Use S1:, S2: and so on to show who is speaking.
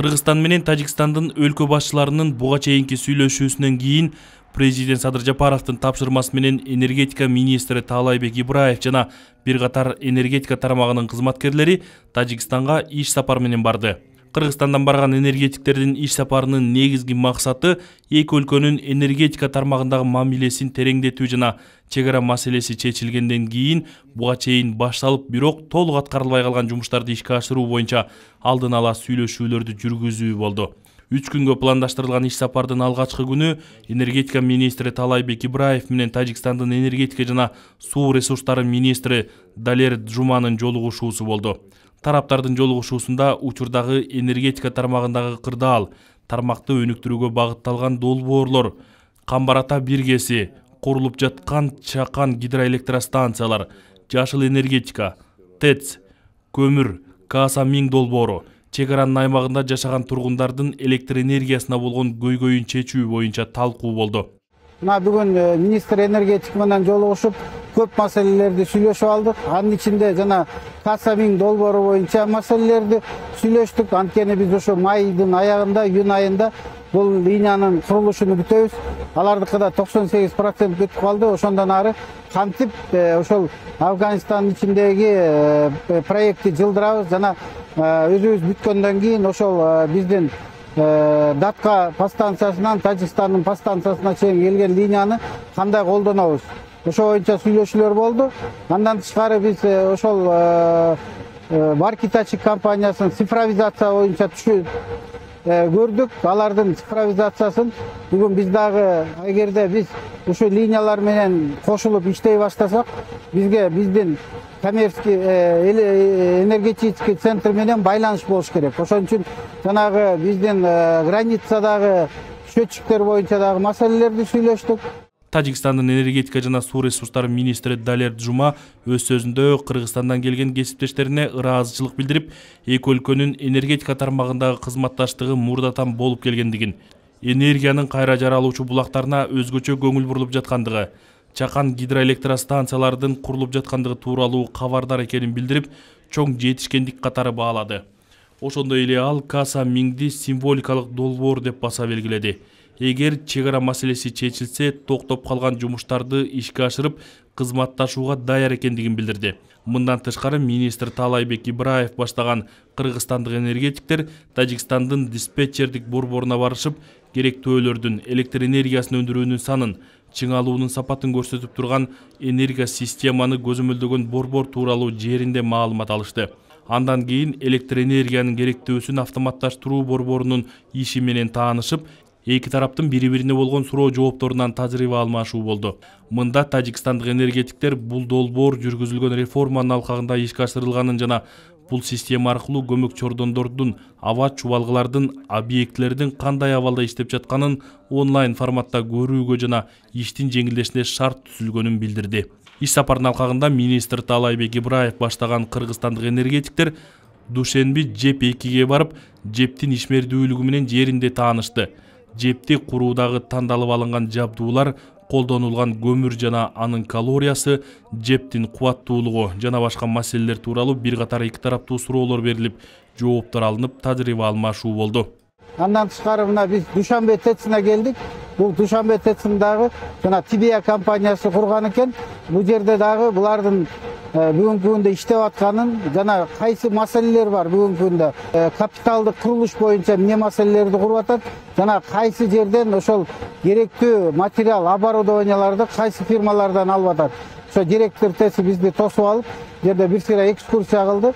S1: Кыргызстан менен Тажикстандын өлкө башчыларынын буга чейинки сүйлөшүүсүнөн кийин президент Садыр Жапаровдун тапшырмасы менен энергетика министри Таалайбек Ибраев жана бир катар энергетика тармагынын кызматкерлери Тажикстанга иш сапар менен барды. Кыргызстандан барган энергетиктердин иш сапарынын негизги максаты эки өлкөнүн энергетика тармагындагы мамилесин тереңдетүү жана чек ара маселеси чечилгенден кийин буга чейин башталып, бирок толук аткарылбай калган жумуштарды ишке ашыруу боюнча алдын ала сүйлөшүүлөрдү жүргүзүү болду. 3 күнгө пландаштырылган иш сапардын алгачкы күнү энергетика министри Таалайбек Ибраев менен Тажикстандын энергетика жана суу ресурстары министри Далер Джуманын жолугушуусу болду. Тараптардын жолугушуусунда учурдагы энергетика тармагындагы кырдаал, тармакты өнүктүрүүгө багытталган долбоорлор, Камбар-Ата биргеси, курулуп жаткан чакан гидроэлектростанциялар, жашыл энергетика, ТЭЦ, көмүр, Кааса-Миң долбоору, чек аранын аймагында жашаган тургундардын электр энергиясына болгон көйгөйүн чечүү боюнча талкуу болду.
S2: Мына бүгүн министр энергетика менен жолугушуп, көп маселелерди сүйлөшүп алдык. Анын ичинде жана Кааса-Миң долбоору боюнча маселелерди сүйлөштүк. Анткени биз ошо майдын аягында, июнь айында бул линиянын курулушун бүтөбүз. Алардыкы да 98% бүтүп калды. Ошондон ары кантип ошол Афганистандын ичиндеги проектти жылдырабыз жана өзүбүз бүткөндөн кийин ошол биздин Датка подстанциясынан Тажикстандын подстанциясына чейин келген линияны кандай колдонобуз? Ошо боюнча сүйлөшүүлөр болду. Андан тышкары биз ошол Баркитачи компаниясынын цифровизация боюнча көрдүк. Алардын цифровизациясын бүгүн биз дагы, эгерде биз ушу линиялар менен кошулуп иштей баштасак, бизге биздин коммерческий энергетический центр менен байланыш болуш керек. Ошон үчүн жанагы биздин границадагы счетчиктер боюнча дагы маселелерди сүйлөштүк.
S1: Тажикстандын энергетика жана суу ресурстары министри Далер Джума өз сөзүндө Кыргызстандан келген кесиптештерине ыраазычылык билдирип, эки өлкөнүн энергетика тармагындагы кызматташтыгы мурдатан болуп келгендигин, энергиянын кайра жаралуучу булактарына өзгөчө көңүл бурулуп жаткандыгы, чакан гидроэлектростанциялардын курулуп жаткандыгы тууралуу кабардар экенин билдирип, чоң жетишкендик катары баалады. Ошондой эле ал Кааса-Миңди символикалык долбоор деп баса белгиледи. Эгер чек ара маселеси чечилсе, токтоп калган жумуштарды ишке ашырып, кызматташууга даяр экендигин билдирди. Мындан тышкары министр Таалайбек Ибраев баштаган кыргызстандык энергетиктер Тажикстандын диспетчердик борборуна барышып, керектөөлөрдүн, электр энергиясын өндүрүүнүн санын, чыңалуунун сапатын көрсөтүп турган энергия системаны көзөмөлдөгөн борбор тууралуу жеринде маалымат алышты. Андан кийин электр энергиянын керектөөсүн автоматташтыруу борборунун иши менен таанышып, эки тараптын бири-бирине болгон суроо жоопторунан тажрыйба алмашуу болду. Мында тажикстандык энергетиктер бул долбоор жүргүзүлгөн реформанын алкагында ишке ашырылганын жана бул система аркылуу көмөк чордондордун, аба чубалгылардын, объектилердин кандай абалда иштеп жатканын онлайн форматта көрүүгө жана иштин жеңилдешине шарт түзүлгөнүн билдирди. Иш сапардын алкагында министр Таалайбек Ибраев баштаган кыргызстандык энергетиктер Душенби ЖЭП-2ге барып, ЖЭПтин ишмердүүлүгү менен жеринде таанышты. ЖЭПти куруудагы тандалып алынган жабдуулар, колдонулган көмүр жана анын калориясы, ЖЭПтин кубаттуулугу жана башка маселелер тууралуу бир катар эки тараптуу суроолор берилип, жооптор алынып, тажрыйба алмашуу болду.
S2: Андан тышкары мына биз Душанбе ТЭЦине келдик. Бул Душанбе ТЭЦин дагы жана Тибия компаниясы курган экен. Бул жерде дагы булардын бүгүнкү күндө иштеп атканын жана кайсы маселелер бар бүгүнкү күндө капиталдык курулуш боюнча эмне маселелерди куруп атат жана кайсы жерден ошол керектүү материал, оборудованияларды кайсы фирмалардан алып атат. Ошо директор ТЭЦи бизди тосуп алып, жерде бир сыйра экскурсия кылды.